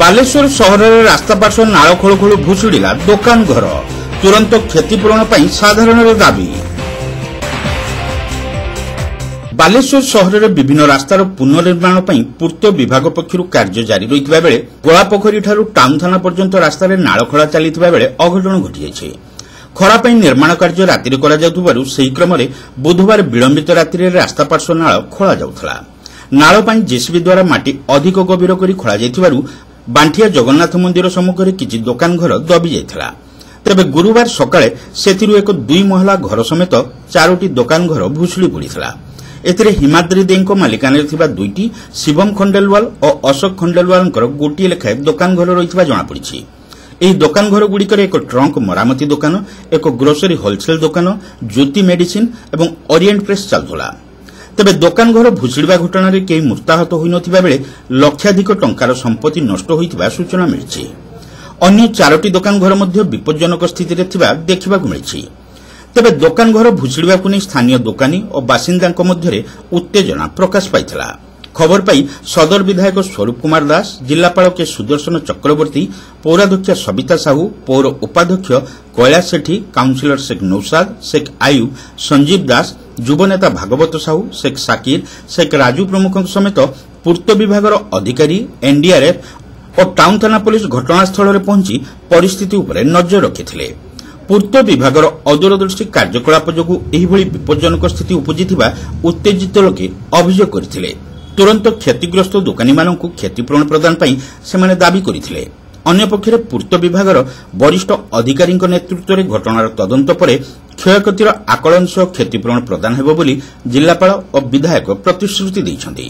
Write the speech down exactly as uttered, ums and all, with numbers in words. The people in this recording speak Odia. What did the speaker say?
ବାଲେଶ୍ୱର ସହରରେ ରାସ୍ତା ପାର୍ଶ୍ୱ ନାଳ ଖୋଳୁ ଖୋଳୁ ଭୁଶୁଡ଼ିଲା ଦୋକାନ ଘର। ତୁରନ୍ତ କ୍ଷତିପୂରଣ ପାଇଁ ସାଧାରଣରେ ଦାବି। ବାଲେଶ୍ୱର ସହରରେ ବିଭିନ୍ନ ରାସ୍ତାର ପୁନଃନିର୍ମାଣ ପାଇଁ ପୂର୍ତ୍ତ ବିଭାଗ ପକ୍ଷରୁ କାର୍ଯ୍ୟ ଜାରି ରହିଥିବା ବେଳେ ଗୋଳାପୋଖରୀଠାରୁ ଟାଉନ ଥାନା ପର୍ଯ୍ୟନ୍ତ ରାସ୍ତାରେ ନାଳ ଖୋଳା ଚାଲିଥିବା ବେଳେ ଅଘଟଣ ଘଟିଯାଇଛି। ଖରା ପାଇଁ ନିର୍ମାଣ କାର୍ଯ୍ୟ ରାତିରେ କରାଯାଉଥିବାରୁ ସେହି କ୍ରମରେ ବୁଧବାର ବିଳମ୍ବିତ ରାତିରେ ରାସ୍ତା ପାର୍ଶ୍ୱ ନାଳ ଖୋଳାଯାଉଥିଲା। ନାଳ ପାଇଁ ଜେସିବି ଦ୍ୱାରା ମାଟି ଅଧିକ ଗଭୀର କରି ଖୋଳାଯାଇଥିବାରୁ ବାଣ୍ଠିଆ ଜଗନ୍ନାଥ ମନ୍ଦିର ସମ୍ମୁଖରେ କିଛି ଦୋକାନ ଘର ଦବି ଯାଇଥିଲା। ତେବେ ଗୁରୁବାର ସକାଳେ ସେଥିରୁ ଏକ ଦୁଇ ମହଲା ଘର ସମେତ ଚାରୋଟି ଦୋକାନ ଘର ଭୁଶୁଡ଼ି ପଡ଼ିଥିଲା। ଏଥିରେ ହିମାଦ୍ରି ଦେଙ୍କ ମାଲିକାନାରେ ଥିବା ଦୁଇଟି, ଶିବମ ଖଣ୍ଡେଲୱାଲ ଓ ଅଶୋକ ଖଣ୍ଡେଲୱାଲଙ୍କର ଗୋଟିଏ ଲେଖାଏଁ ଦୋକାନ ଘର ରହିଥିବା ଜଣାପଡ଼ିଛି। ଏହି ଦୋକାନ ଘରଗୁଡ଼ିକରେ ଏକ ଟ୍ରଙ୍କ ମରାମତି ଦୋକାନ, ଏକ ଗ୍ରୋସରୀ ହୋଲସେଲ ଦୋକାନ, ଜ୍ୟୋତି ମେଡିସିନ ଏବଂ ଓରିଏଣ୍ଟ ପ୍ରେସ୍ ଚାଲୁଥିଲା। ତେବେ ଦୋକାନ ଘର ଭୁଶୁଡ଼ିବା ଘଟଣାରେ କେହି ମୃତାହତ ହୋଇନଥିବା ବେଳେ ଲକ୍ଷାଧିକ ଟଙ୍କାର ସମ୍ପତ୍ତି ନଷ୍ଟ ହୋଇଥିବା ସୂଚନା ମିଳିଛି। ଅନ୍ୟ ଚାରୋଟି ଦୋକାନ ଘର ମଧ୍ୟ ବିପଜ୍ଜନକ ସ୍ଥିତିରେ ଥିବା ଦେଖିବାକୁ ମିଳିଛି। ତେବେ ଦୋକାନ ଘର ଭୁଶୁଡ଼ିବାକୁ ନେଇ ସ୍ଥାନୀୟ ଦୋକାନୀ ଓ ବାସିନ୍ଦାଙ୍କ ମଧ୍ୟରେ ଉତ୍ତେଜନା ପ୍ରକାଶ ପାଇଥିଲା। ଖବର ପାଇ ସଦର ବିଧାୟକ ସ୍ୱରୂପ କୁମାର ଦାସ, ଜିଲ୍ଲାପାଳ କେ ସୁଦର୍ଶନ ଚକ୍ରବର୍ତ୍ତୀ, ପୌରାଧ୍ୟକ୍ଷା ସବିତା ସାହୁ, ପୌର ଉପାଧ୍ୟକ୍ଷ କୈଳାସ ସେଠୀ, କାଉନସିଲର ଶେଖ୍ ନୌସାଦ, ଶେଖ୍ ଆୟୁବ, ସଞ୍ଜୀବ ଦାସ, ଯୁବନେତା ଭାଗବତ ସାହୁ, ଶେଖ୍ ସାକିର, ଶେଖ୍ ରାଜୁ ପ୍ରମୁଖଙ୍କ ସମେତ ପୂର୍ତ୍ତ ବିଭାଗର ଅଧିକାରୀ, ଏନ୍ଡିଆର୍ଏଫ୍ ଓ ଟାଉନ ଥାନା ପୋଲିସ ଘଟଣାସ୍ଥଳରେ ପହଞ୍ଚି ପରିସ୍ଥିତି ଉପରେ ନଜର ରଖିଥିଲେ। ପୂର୍ତ୍ତ ବିଭାଗର ଅଦୂରଦୃଷ୍ଟି କାର୍ଯ୍ୟକଳାପ ଯୋଗୁଁ ଏହିଭଳି ବିପଜ୍ଜନକ ସ୍ଥିତି ଉପୁଜିଥିବା ଉତ୍ତେଜିତ ଲୋକେ ଅଭିଯୋଗ କରିଥିଲେ। ତୁରନ୍ତ କ୍ଷତିଗ୍ରସ୍ତ ଦୋକାନୀମାନଙ୍କୁ କ୍ଷତିପୂରଣ ପ୍ରଦାନ ପାଇଁ ସେମାନେ ଦାବି କରିଥିଲେ। ଅନ୍ୟପକ୍ଷରେ ପୂର୍ତ୍ତ ବିଭାଗର ବରିଷ୍ଠ ଅଧିକାରୀଙ୍କ ନେତୃତ୍ୱରେ ଘଟଣାର ତଦନ୍ତ ପରେ କ୍ଷୟକ୍ଷତିର ଆକଳନ ସହ କ୍ଷତିପୂରଣ ପ୍ରଦାନ ହେବ ବୋଲି ଜିଲ୍ଲାପାଳ ଓ ବିଧାୟକ ପ୍ରତିଶ୍ରୁତି ଦେଇଛନ୍ତି।